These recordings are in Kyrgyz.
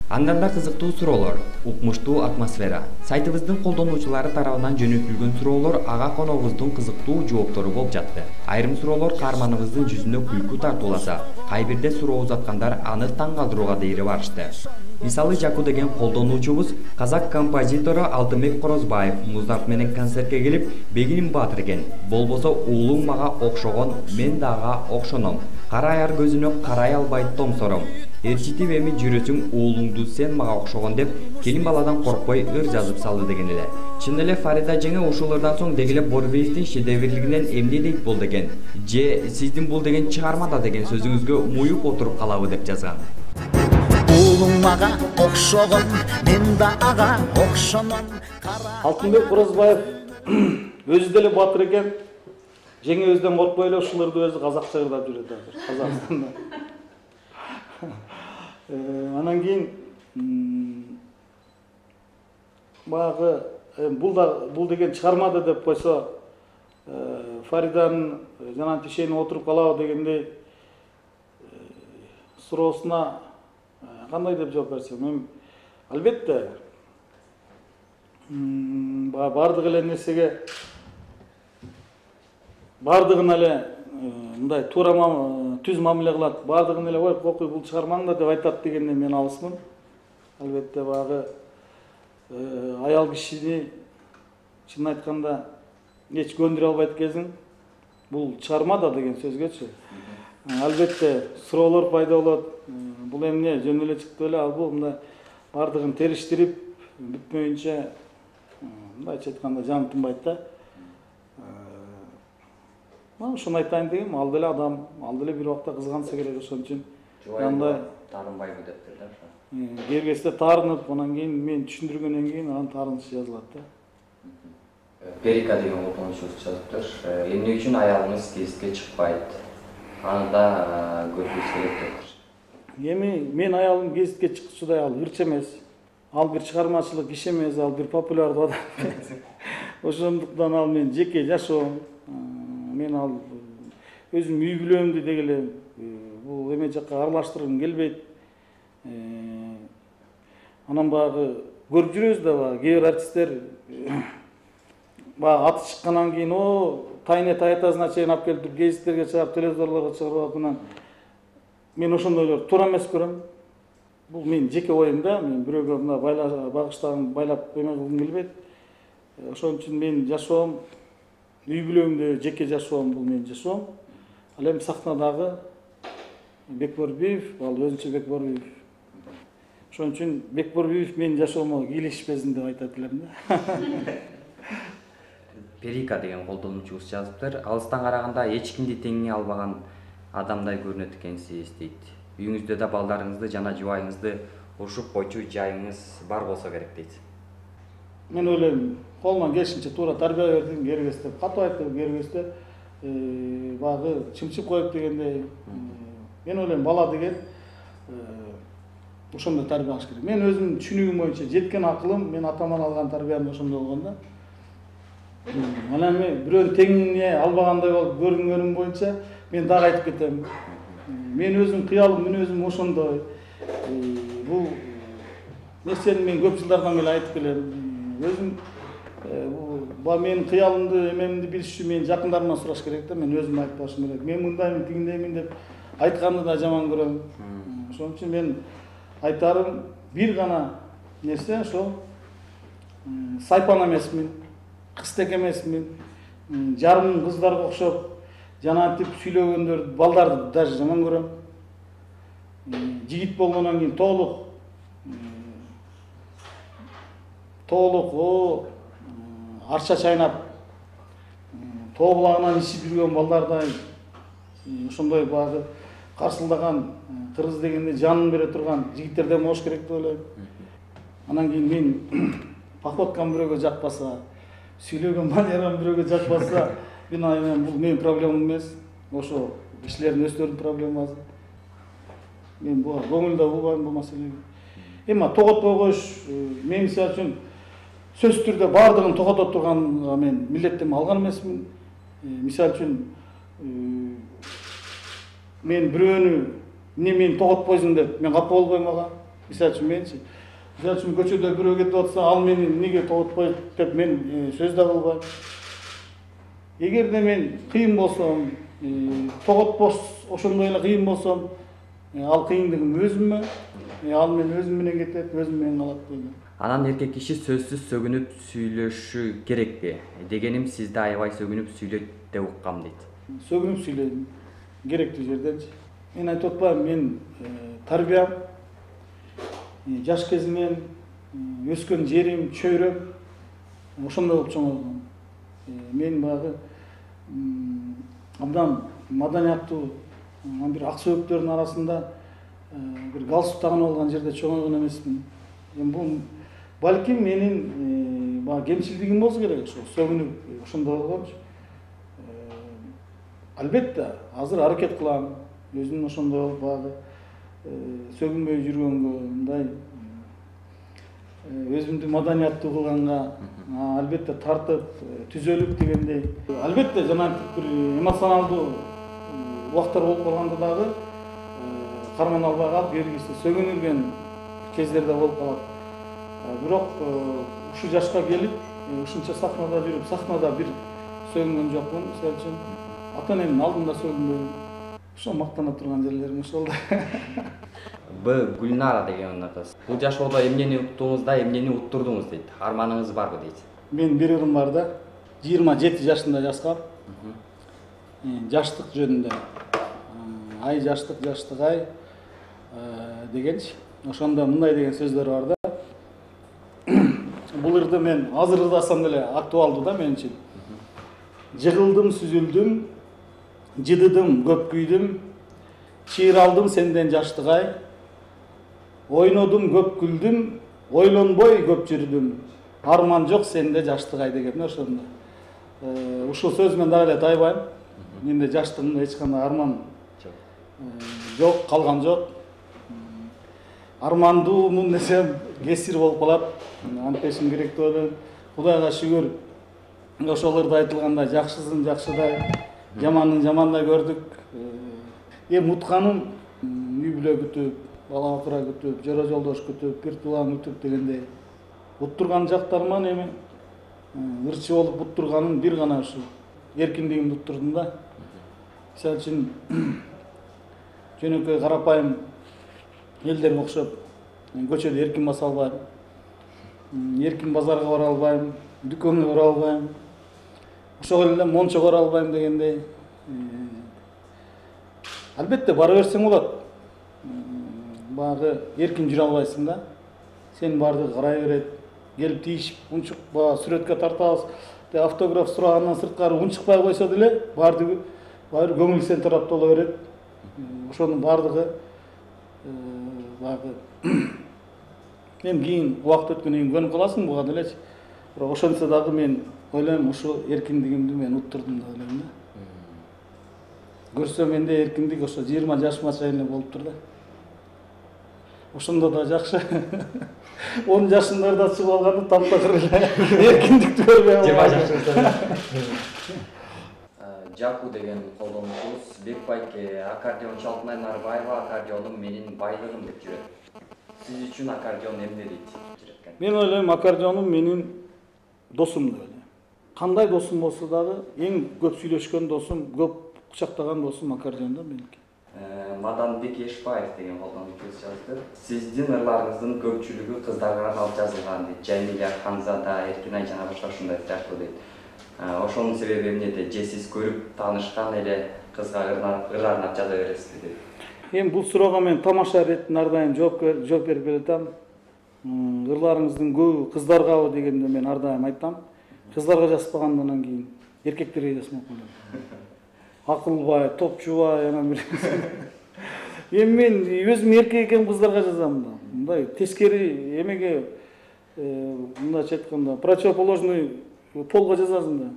Андан да кызыктуу суроолор, укмуштуу атмосфера. Сайтыбыздын колдонуучулары тарабынан жөнөтүлгөн суроолор ага коногубуздун кызыктуу жооптору болуп жатты. Айрым суроолор каарманыбыздын жүзүнө күлкү тартууласа, кайбирде суроо узаткандар аны таң калтырууга дейре барышты. Мисалы Жаку деген колдонуучубуз казак композитору Алтынбек Корозбаев муздарт менен концертке келип, бегиним баатыр экен. Болбосо уулуң мага окшогон, мен да ага окшоном. Кара аяр көзүнө карай албайт томсором. Ээрчитип эми жүрөсүң уулуңду сен мага окшогон деп келин баладан коркпой ыр жазып салды деген эле. Чын эле Фарида жеңе ушулардан соң дегеле Борбеевдин шедеврлигинен эмне дейт болду экен. Же сиздин бул деген чыгармада деген сөзүңүзгө муюп отуруп калабы деп жазган. Уулуң мага окшогон, мен да ага окшоном. Алтынбек Корозбаев өзү деле баатыр экен. Жеңе өзүдөн коркпой эле ушуларды өзү казакча ырдап жүрөт азыр Казакстанда. Анан кийин баягы бул деген чыгармады деп койсо, Фариданын жана тишене отуруп калабы дегендей суроосуна кандай деп жооп берсем, мен албетте баардык эле нерсеге баардыгына эле мындай туура түз мамиле кылат, баардыгын эле кокуй бул чыгармаңда деп айтат дегенден мен алысмын. Албетте баягы аял кишини чын айтканда эч көндүрө албайт кезиң бул чыгармада деген сөзгөчү. Албетте суроолор пайда болот. Бул эмне жөн эле чыкты эле, ал бул мындай баардыгын териштирип бүтпөйүнчө мындайча айтканда жан тынбайт да. Ошону айтайын дегем, ал деле адам, ал деле бир убакта кызганса керек, ошон үчүн андай таарынбайбы дептир да. Кергесте таарынып, анан кийин мен түшүндүргөндөн кийин анан таарыныш жазылат да. Перика деген колдонуучубуз жазыптыр. Эмне үчүн аялыңыз гезитке чыкпайт? Аны да көргүбүз келет дептир. Эми мен аялым гезитке чыкчудай ал ырчы эмес. Ал бир чыгармачылык иш эмес, ал бир популярдуу адам эмес. Ошондуктан ал мен жеке жашоом. Мен ал өзүм үй бүлөмдү дегеле бул эме жакка аралаштыргым келбейт. Анан баягы көрүп жүрөбүз да, баягы кээ бир артисттер баягы аты чыккандан кийин тайне таятасына чейин алып келип гезиттерге чыгарып, телевизорлорго чыгарып анан мен ошондойлорду туура эмес көрөм. Бул менин жеке оюм да, мен бирөөгө мына багыштаган байлап эме кылгым келбейт. Ошон үчүн мен жашоом үй бүлөмдө жеке жашоом, бул менин жашоом. Ал эми сахнадагы Бекборбиев, ал өзүнчө Бекборбиев. Ошон үчүн Бекборбиев менин жашоомо кийлешпесин деп айтат элем да. Перика деген колдонуучубуз жазыптыр. Алыстан караганда эч кимди теңи албаган адамдай көрүнөт экенсиз дейт. Үйүңүздө да балдарыңызды жана жубайыңызды урушуп койчу жайыңыз бар болсо керек дейт. Мен ойлойм, колуман келишинче туура тарбия бердим, кергесте катуу айтып, кергесте баягы чымчып коюп дегендей. Мен ойлойм, бала деген ошондой тарбия алыш керек. Мен өзүмдүн түшүнүгүм боюнча жеткен акылым, мен атаман алган тарбиям ошондой болгон да. Анан мен бирөөнү теңине албагандай болуп көрүнгөнүм боюнча мен дагы айтып кетем. Мен өзүм кыялым, мүнөзүм ошондой. Бул нерсени мен көп жылдардан бери айтып келем. Өзүм бул менин кыялымды, эмемди билиш үчүн мен жакындарымдан сураш керек да, мен өзүм айтпашым керек. Мен мындаймын, тигиндеймин деп айтканды да жаман көрөм. Ошон үчүн мен айтарым бир гана нерсе, ошол сайпан эмесмин, кызтек эмесмин, жарым кыздарга окшоп жанагынтип сүйлөгөндөр, балдарды даже жаман көрөм. Жигит болгондон кийин толук арча чайнап, тоо булагынан ичип жүргөн балдардай ошондой баягы карсылдаган, кыргыз дегенде жанын бере турган жигиттерден болуш керек деп ойлойм. Анан кийин мен походкам бирөөгө жакпаса, сүйлөгөн манерам бирөөгө жакпаса, мен айынан бул менин проблемам эмес. Ошо кишилердин өздөрүнүн проблемасы. Мен буга көңүл да бурбайм бул маселеге. Эми тоготпой коюш, мен мисалы үчүн сөзсүз түрдө баардыгын тогото турганга мен милдеттенме алган эмесмин. Мисалы үчүн мен бирөөнү эмне мени тоготпойсуң деп мен капа болбойм ага. Мисалы үчүн менчи, мисалы үчүн көчөдө бирөө кетип атса, ал мени эмнеге тоготпойт деп мен сөз да кылбайм. Эгерде мен кыйын болсом, тоготпош ошондой эле кыйын болсом, ал кыйындыгым өзүмө, ал мен өзүм менен кетет, өзүм менен калат дейм. Анан эркек киши сөзсүз сөгүнүп сүйлөшү керекпи? Дегеним сизди аябай сөгүнүп сүйлөйт деп уккам дейт. Сөгүнүп сүйлөйм, керектүү жерденчи. Мен айтып атпайм, мен тарбиям, жаш кезимен өскөн жерим, чөйрөм ошондой болуп чоңойгон. Мен баягы абдан маданияттуу бир ак сөөктөрдүн арасында бир галстук тагынып алган жерде чоңойгон эмесмин. Бул балким менин баягы кемчилдигим болсо керек, ошо сөгүнүп ошондой болгомчу. Албетте, азыр аракет кылам, өзүм ошондой баягы сөгүнбөй жүргөнгө, мындай өзүмдү маданияттуу кылганга албетте тартып, түзөлүп дегендей. Албетте жанагы бир эмоционалдуу убактар болуп калганда дагы карман албай калып, бергиси сөгүнүлгөн кездерде болуп калат. Бирок ушу жашка келип, ушунча сахнада жүрүп, сахнада бир сөгүнгөн жокмун. Мисалы үчүн ата-энемдин алдында сөгүнбөйм. Ошо мактана турган жерлерим ошол да. Б. Гүлнара деген кыз. Бул жашоодо эмнени уктуңуз эмнени уттурдуңуз дейт. Арманыңыз барбы дейт. Мен бир ырым бар да. 27 жашында жазгам. Жаштык жөнүндө. Ай жаштык, жаштык ай дегенчи. Ошондо мындай деген сөздөр бар да. Бул ырды мен азыр ырдасам деле актуалдуу да мен үчүн. Жыгылдым, сүзүлдүм, жыдыдым, көп күйдүм, чыйралдым сенден жаштык ай. Ойнодум, көп күлдүм, ойлонбой көп жүрдүм. Арман жок сенде жаштык ай деген ошондо. Ушул сөз мен дагы эле тайбайм. Менде жаштыгымда эч кандай арман жок, калган жок. Армандуумун десем кесир болуп калат. Антешим керек деп ойлойм. Кудайга шүгүр. Ошолордо айтылгандай жакшысын жакшыдай, жаманын жамандай көрдүк. Эми утканым үй бүлө күтүп, бала бакыра күтүп, жора жолдош күтүп, бир туулан күтүп дегендей. Уттурган жактарыман эми ырчы болуп уттурганым бир гана ушу эркиндигимди уттурдум да. Мисалы үчүн жөнөкөй карапайым элдерге окшоп көчөдө эркин баса албайм. Эркин базарга бара албайм, дүкөнгө бара албайм. Ошол эле мончо бара албайм дегендей. Албетте бара берсең болот. Баягы эркин жүрө албайсың да. Сен барды карай берет, келип тийишип, унчук сүрөткө тартабыз, автограф сурагандан сырткары унчукпай койсо деле баары көңүл сен тарапта боло берет. Ошонун баардыгы баягы эми кийин убакыт өткөндөн кийин көнүп каласың буга делечи. Бирок ошентсе дагы мен ойлойм, ушу эркиндигимди мен уттурдум деп ойлойм да. Көрсө менде эркиндик ошо 20 жашыма чейин эле болуптур да. Ошондо да жакшы. 10 жашымдарда чыгып алганда таптакыр эле эркиндикти көрбөй албайм. Жаку деген колдонуучубуз Бекбайке аккордеон Чалтынай Нарбаева аккордеонум менин байлыгым деп жүрөт. Сиз үчүн аккордеон эмне дейт? Мен ойлойм, аккордеонум менин досум деп ойлойм. Кандай досум болсо дагы эң көп сүйлөшкөн досум, көп кучактаган досум аккордеон да меники. Маданбек Эшбаев деген колдонуучубуз жазды. Сиздин ырларыңыздын көпчүлүгү кыздарга арналып жазылган дейт. Жамиля, Ханзада, Эркинай жана башка ушундай сыяктуу дейт. Ошонун себеби эмнеде? Же сиз көрүп таанышкан эле кызга ыр арнап жаза бересизби дейт. Эми бул суроого мен тамаша иретинен ар дайым жооп берип келатам. Ырларыңыздын көбү кыздаргабы дегенде мен ар дайым айтам. Кыздарга жазбагандан кийин эркектерге жазмак болом. Акылбай, топчубай, анан бир. Эми мен өзүм эркек экеним кыздарга жазам да. Мындай тескери эмеге мындайча айтканда противоположный полго жазасың да.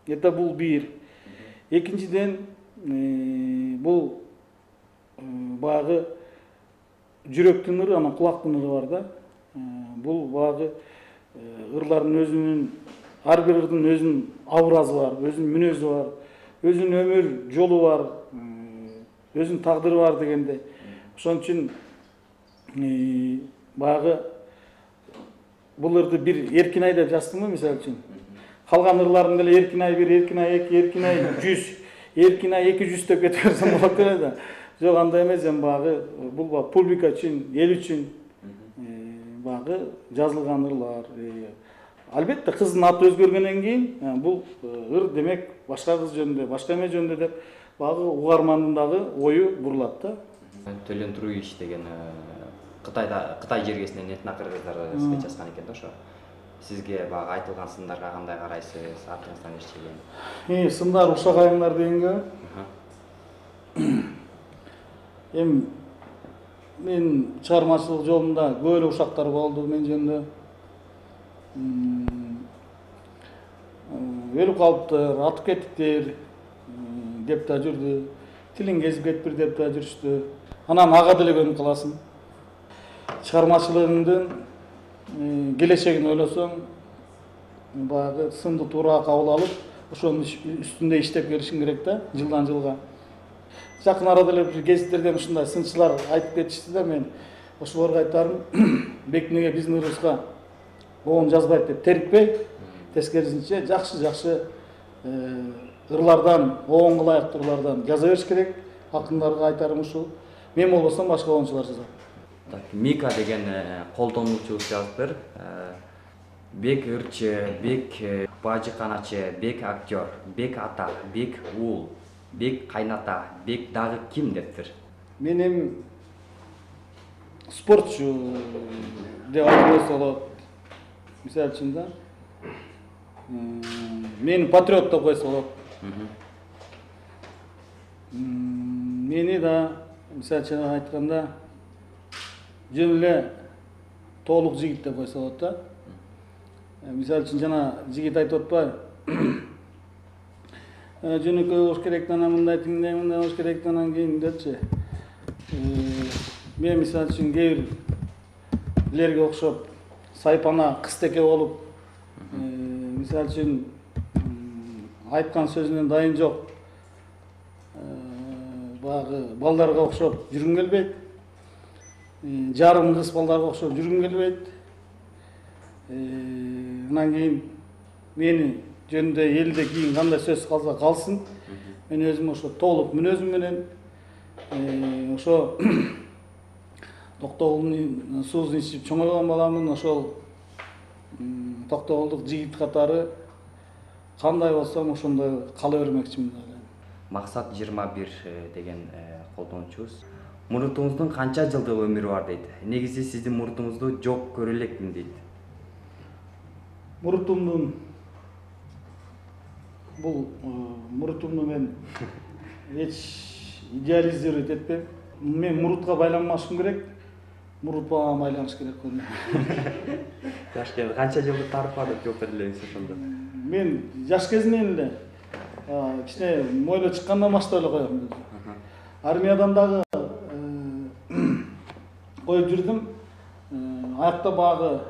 Это бул бир. Экинчиден бул баягы жүрөктүн ыры, анан кулактын ыры бар да. Бул баягы ырлардын өзүнүн, ар бир ырдын өзүнүн образы бар, өзүнүн мүнөзү бар, өзүнүн өмүр жолу бар, өзүнүн тагдыры бар дегенде. Ошон үчүн баягы бул ырды бир Эркинай деп жаздымбы мисалы үчүн. Калган ырларын деле Эркинай 1, Эркинай 2, Эркинай 100, Эркинай 200 деп кете берсем болот эле да. Жок, андай эмес, эми баягы бул публика үчүн, эл үчүн баягы жазылган ырлар. Албетте кыздын аты өзгөргөндөн кийин бул ыр демек башка кыз жөнүндө, башка эме жөнүндө деп баягы угармандын дагы ою бурулат да. Төлөн Туруевич деген Кытай жергесинен этнокыр кыздар жазган экен да ошо. Сизге баягы айтылган сындарга кандай карайсыз? Артыңыздан эчтеген? Сындар ушагайыңдар дегенге. Эми мен чыгармачылык жолунда көп эле ушактар болду мен жөнүндө. Өлүп калыптыр, атып кеттиктер деп да жүрдү. Тилиң кезип кетпир деп да жүрүштү. Анан ага деле көнүп каласың. Чыгармачылыгыңдын келечегин ойлосоң, баягы сынды туура кабыл алып, ошонун үстүндө иштеп келишиң керек да, жылдан жылга. Жакын арада эле бир гезиттерден ушундай сынчылар айтып кетишти да, мен ошолорго айтарым, бекинеге биздин ырыбызга оон жазбайт деп терикпей, тескерисинче жакшы ырлардан, оонго ылайыктуу ырлардан жаза бериш керек. Акындарга айтарым ушул. Мен болбосом башка оончулар жазат. Мика деген колдонуучубуз жазыптыр. Бек ырчы, бек бажыканачы, бек актер, бек ата, бек уул, бек кайната, бек дагы ким дептир. Мен эми спортчу деп айтылса болот. Мисалы үчүн да. Мени патриот деп койсо болот. Мени да мисалы үчүн айтканда жөн эле толук жигит деп койсо болот да. Мисалы үчүн жана жигит айтып атпайбы? Жөнөкөй болуш керек, анан мындай тиңдей, мындай болуш керек, анан кийин депчи. Мен мисалы үчүн кээ бирлерге окшоп сайпана кызтеке болуп, мисалы үчүн айткан сөзүнөн дайын жок. Баягы балдарга окшоп жүргүм келбейт. Жарым кыз балдарга окшоп жүргүм келбейт. Анан кийин мени жөнүндө элде кийин кандай сөз калса калсын. Мен өзүм ошо толук мүнөзүм менен ошо Токтогулдун суусун ичип чоңойгон баламын. Ошол Токтогулдук жигит катары кандай болсом ошондой кала бермекчимин. Максат 21 деген колдонуучубуз. Мурутуңуздун канча жылдык өмүрү бар дейт. Негизи сиздин мурутуңузду жок көрө элекмин дейт. Мурутумдун бул мурутумду мен эч идеализировать этпейм. Мен мурутка байланбашым керек. Мурут мага байланыш керек кону. Жаш кезде канча жылдык тарыхы бар деп жооп бере элеңиз ошондо. Мен жаш кезинен эле кичине мойло чыккандан баштап эле коем. Армиядан дагы коюп жүрдүм. Аякта багы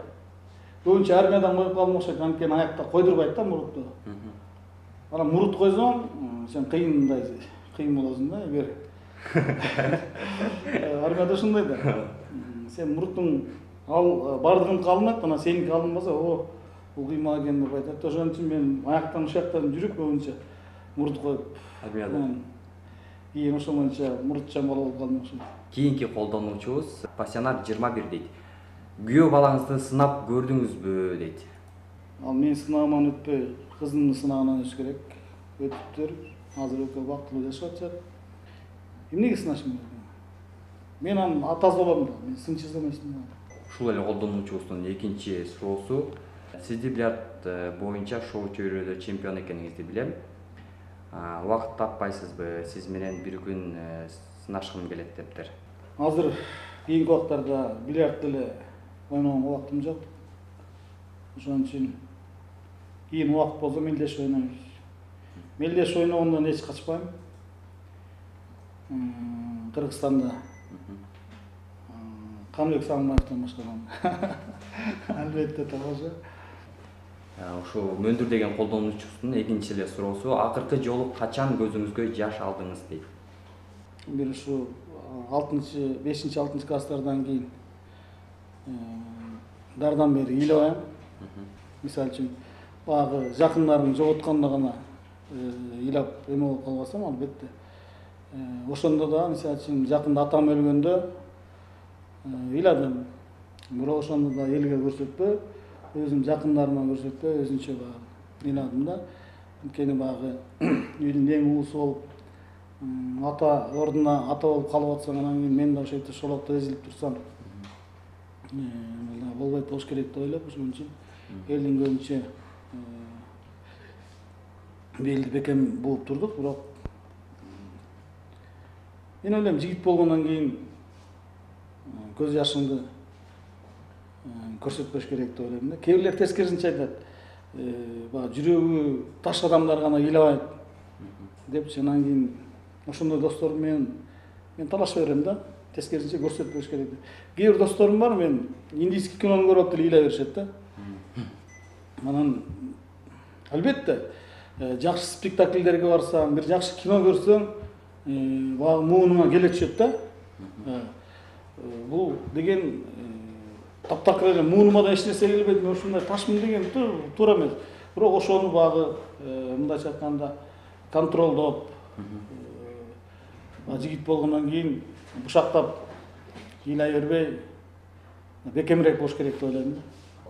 көбүнчө армиядан коюп калдым окшойт, анткени аякта койдурбайт да мурутту. Анан мурут койсоң, сен кыйындай кыйын болосуң да, эгер армияда ушундай да. Сен муруттуң бардыгын калынат, анан сеники алынбаса, бул кыймал экен деп айтат. Ошон үчүн мен аяктан ушактан жүрүп көбүнчө мурут коюп армияда. Кийин ошол боюнча мурутчан бала болуп калдым окшойт. Кийинки колдонуучубуз Пассионар 21 дейт. Күйөө балаңызды сынап көрдүңүзбү дейт. Ал мен сынагыман өтпөй, кызымдын сынагынан өтүш керек. Өтүптүр. Азыр экөө бактылуу жашап атышат. Эмнеге сынашым керек? Мен анын атасы болом да, мен сынчы эмесмин. Ушул эле колдонуучубуздун экинчи суроосу. Сизди бильярд боюнча шоу чөйрөдө чемпион экениңизди билем. Убакыт таппайсызбы? Сиз менен бир күн сынашкым келет дептир. Азыр кийинки убактарда бильярд деле ойногонго убактым жок. Ошон үчүн кийин убакыт болсо мелдеш ойнойбуз. Мелдеш ойногондон эч качпайм. Кыргызстанда Камбек Сагынбаевден башкарган. Албетте табажа. Ошо Мөндүр деген колдонуучубуздун экинчи эле суроосу. Акыркы жолу качан көзүңүзгө жаш алдыңыз дейт. Бир ушу 5-6 класстардан кийин дардан бери ыйлабайм. Мисалы үчүн баягы жакындарымды жоготкондо гана ыйлап эме болуп калбасам, албетте. Ошондо да мисалы үчүн жакында атам өлгөндө ыйладым. Бирок ошондо да элге көрсөтпөй, өзүм жакындарыма көрсөтпөй, өзүнчө баягы ыйладым да. Анткени баягы үйдүн эң уусу болуп, ата ордуна ата болуп калып атсаң, анан кийин мен да ошентип шолокто эзилип турсам, болбойт болуш керек деп ойлоп, ошон үчүн элдин көбүнчө белди бекем бууп турдук. Бирок мен ойлойм, жигит болгондон кийин көз жашыңды көрсөтпөш керек деп ойлойм да. Кээ бирлер тескерисинче айтат, баягы жүрөгү таш адамдар гана ыйлабайт депчи. Анан кийин ошондой досторум менен мен талашып берем да, тескерисинче көрсөтпөш керек деп. Кээ бир досторум бар, мен индийский кинону көрүп эле ыйлай беришет да. Анан албетте жакшы спектакльдерге барсаң, бир жакшы кино көрсөң, баягы муунуңа келе түшөт да. Бул деген таптакыр эле муунума да эч нерсе келбейт, мен ушундай ташмын деген туура эмес. Бирок ошону баягы мындайча айтканда контролдоп, жигит болгондон кийин бушактап ыйлай бербей, бекемирээк болуш керек деп ойлойм да.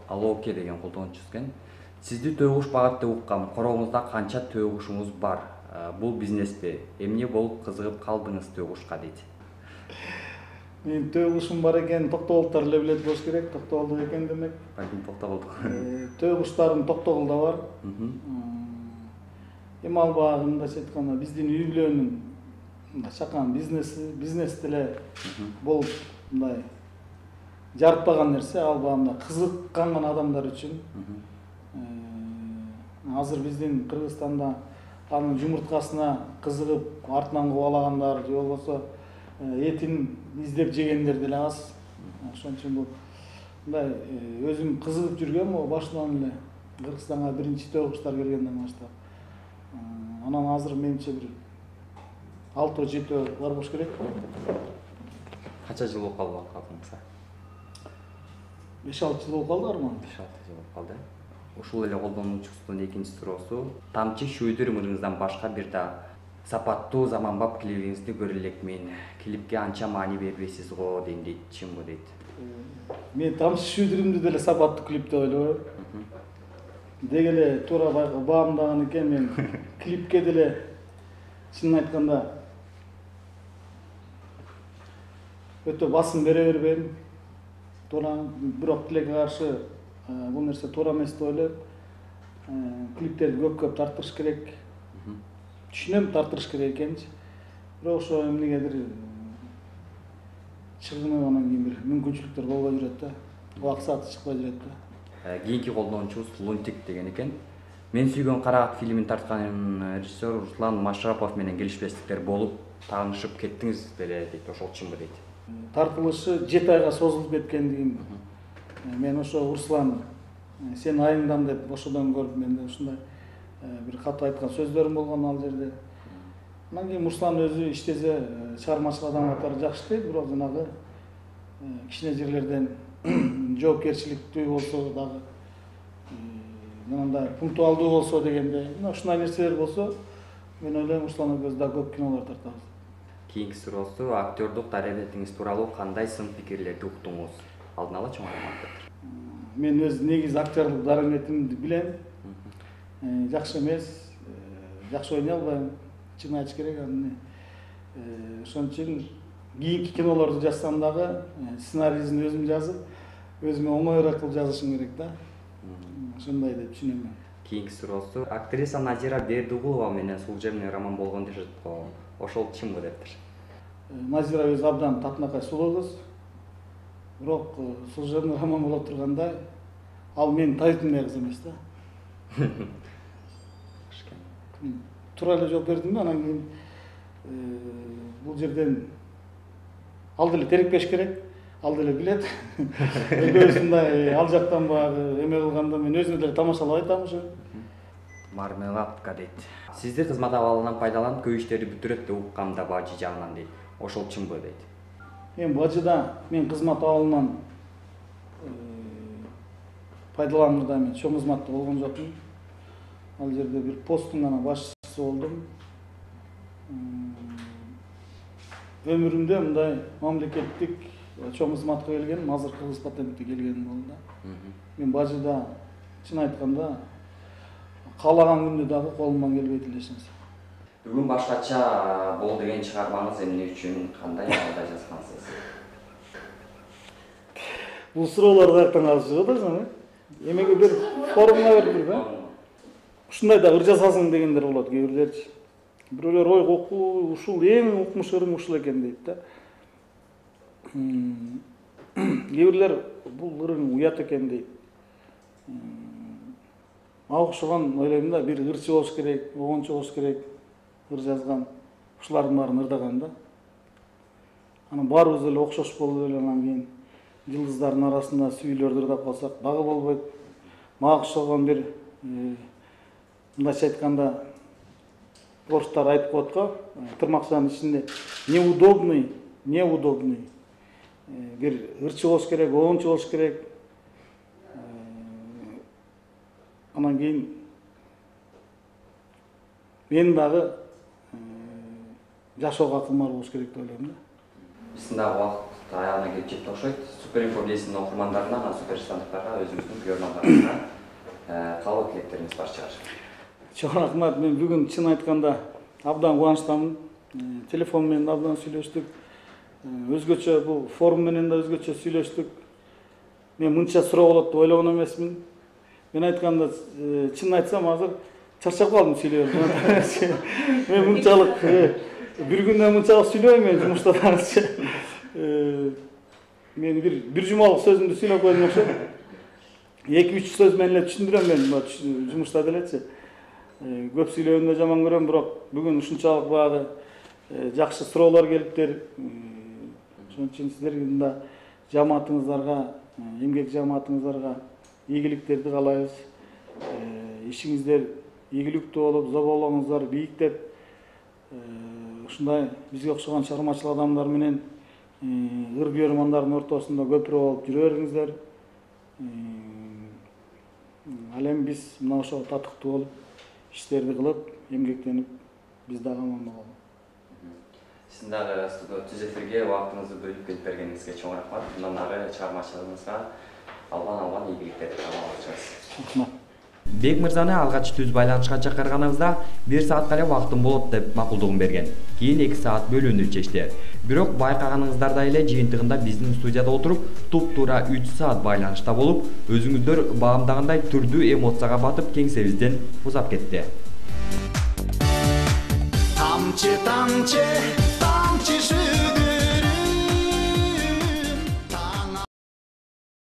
Алоке деген колдонуучубуз экен. Сизди төө куш багат деп уккам. Короңузда канча төө кушуңуз бар? Бул бизнесте эмне болуп кызыгып калдыңыз төө кушка дейт. Мен төө кушум бар экен, Токтогулдар эле билет болуш керек. Токтогулдук экен демек. Балким Токтогулдук. Төө куштарым Токтогулда бар. Эми ал баягы мындайча айтканда биздин үй бүлөнүн чакан бизнес деле болуп мындай жарытпаган нерсе. Ал баягы кызыккан адамдар үчүн. Азыр биздин Кыргызстанда анын жумурткасына кызыгып артынан кубалагандар же болбосо этин издеп жегендер деле аз. Ошон үчүн бул мындай өзүм кызыгып жүргөм, башынан эле Кыргызстанга биринчи төө куштар келгенден баштап. Анан азыр менимче бир 6-7 бар болуш керек. Канча жыл болуп калды калдыңызга? 5-6 жыл болуп калды арман. 5-6 жыл болуп калды. Ушул эле колдонуучубуздун экинчи суроосу, тамчы шүйдүр мырыңыздан башка бир да сапаттуу заманбап клибиңизди көрө элекмин. Клипке анча маани бербейсиз го дейт, чынбы дейт. Мен тамчы шүйдүрүмдү деле сапаттуу клип деп ойлойм. Деги эле туура баамдаган экен, мен клипке деле чынын айтканда өтө басым бере бербейм. Туура, бирок тилекке каршы бул нерсе туура эмес деп ойлойм. Клиптерди көп тартырыш керек. Түшүнөм, тартырыш керек экенчи. Бирок ошо эмнегедир чыгымы анан кийин бир мүмкүнчүлүктөр болбой жүрөт да. Убакыт чыкпай жүрөт да. Кийинки колдонуучубуз Лунтик деген экен. Мен сүйгөн Карагат фильмин тарткан режиссер Руслан Машрапов менен келишпестиктер болуп, таанышып кеттиңиз беле дейт. Ошол чынбы дейт. Тартылышы 7 айга созулуп кеткендигин мен ошо Руслан сен айыңдан деп ошодон көрүп менде ушундай бир кат айткан сөздөрүм болгон ал жерде. Анан кийин Руслан өзү иштесе чыгармачыл адам катары жакшы дейт, бирок жанагы кичине жерлерден жоопкерчиликтүү болсо дагы мындай пунктуалдуу болсо дегенде, ушундай нерселер болсо, мен ойлойм Руслан экөөбүз да көп кинолор тартабыз. Кийинки суроосу, актёрдук дарабетиңиз тууралуу кандай сын пикирлерди уктуңуз? Алдын ала чоң маалыматтыр. Мен өз негизи актёрлук дарабетимди билем. Жакшы эмес, жакшы ойной албайм. Чын айтыш керек аны. Ошон үчүн кийинки кинолорду жазсам дагы сценарийин өзүм жазып, өзүмө оңоюраак кылып жазышым керек да. Ошондой деп түшүнөм мен. Кийинки суроосу, актриса Назира Бердигулова менен служебный роман болгон дешет го. Ошол чынбы дептир. Назира өзү абдан татынакай сулуу кыз. Бирок служебный роман боло турганда ал менин табитимдей кыз эмес да. Туура эле жооп бердим да, анан кийин бул жерден ал деле терикпеш керек, ал деле билет. Өзүндай ал жактан баягы эме кылганда мен өзүм деле тамашалап айтам ошо. Мармеладка дейт. Сизди кызмат абалынан пайдаланып көп иштерди бүтүрөт деп уккам да бажы жагынан дейт. Ошол чынбы дейт. Мен бажыда мен кызмат абалынан пайдаланганда мен чоң кызматта болгон жокмун. Ал жерде бир посттун гана башчысы болдум. Өмүрүмдө мындай мамлекеттик чоң кызматка келгеним азыркы кыз патентке келгеним болду да. Мен бажыда чын айтканда каалаган күндө дагы колумдан келбейт эле эч нерсе. Бүгүн башкача бол деген чыгармаңыз эмне үчүн, кандай абалда жазгансыз? Бул суроолор каяктан калышып атасың, эмеге бир форумга берип, ушундай да ыр жасасың дегендер болот кээ бирлерчи. Бирөөлөр ой коку ушул эң укмуш ырың ушул экен дейт да. Кээ бирлер бул ырың уят экен дейт. Мага окшогон ойлойм да, бир ырчы болуш керек, огончу болуш керек, ыр жазган, ушулардын баарын ырдаган да. Анан баарыбыз эле окшош болуп эле анан кийин жылдыздардын арасында сүйүлөрдү ырдап калсак дагы болбойт. Мага окшогон бир мындайча айтканда орустар айтып коет го, тырмакчанын ичинде неудобный. Бир ырчы болуш керек, огончу болуш керек. Анан кийин мен дагы жашоого акылмар болуш керек деп ойлойм да. Биздин дагы убакыт аягына келип жетти окшойт. Суперинфо бийлесинин окурмандарына, супер стандарттарга, өзүңүздүн көрөрмандарыңызга каалоо тилектериңиз бар чыгар. Чоң рахмат. Мен бүгүн чын айтканда абдан кубанычтамын. Телефон менен абдан сүйлөштүк. Өзгөчө бул форум менен да өзгөчө сүйлөштүк. Мен мынча суроо болот деп ойлогон эмесмин. Мен айтканда чын айтсам азыр чарчап калдым сүйлөп. Мен мынчалык бир күндө мынчалык сүйлөбөйм мен жумушта дагычы. Мен бир жумалык сөзүмдү сүйлөп койдум окшойт. 2-3 сөз менен эле түшүндүрөм мен жумушта делечи. Көп сүйлөгөндө жаман көрөм, бирок бүгүн ушунчалык багы жакшы суроолор келиптир. Ошон үчүн сиздердин да жамаатыңыздарга, эмгек жамаатыңыздарга ийгиликтерди каалайбыз. Ишиңиздер ийгиликтүү болуп, зоболоңуздар бийиктеп, ушундай бизге окшогон чыгармачыл адамдар менен ыр көрөрмандардын ортосунда көпүрө болуп жүрө бериңиздер. Ал эми биз мына ошо татыктуу болуп, иштерди кылып, эмгектенип, биз дагы аман бололу. Сиздин дагы түз эфирге убактыңызды бөлүп келип бергениңизге чоң рахмат. Мындан ары чыгармачылыгыңызга албан ийгиликтерди каалабыз. Рахмат. Бек мырзаны алгач түз байланышка чакырганыбызда 1 саатка эле убактым болот деп макулдугун берген. Кийин 2 саат бөлүүнү чечти. Бирок байкаганыңыздардай эле жыйынтыгында биздин студияда отуруп, туп-туура 3 саат байланышта болуп, өзүңүздөр баамдагандай түрдүү эмоцияга батып кеңсебизден узап кетти. Тамчы, тамчы, тамчы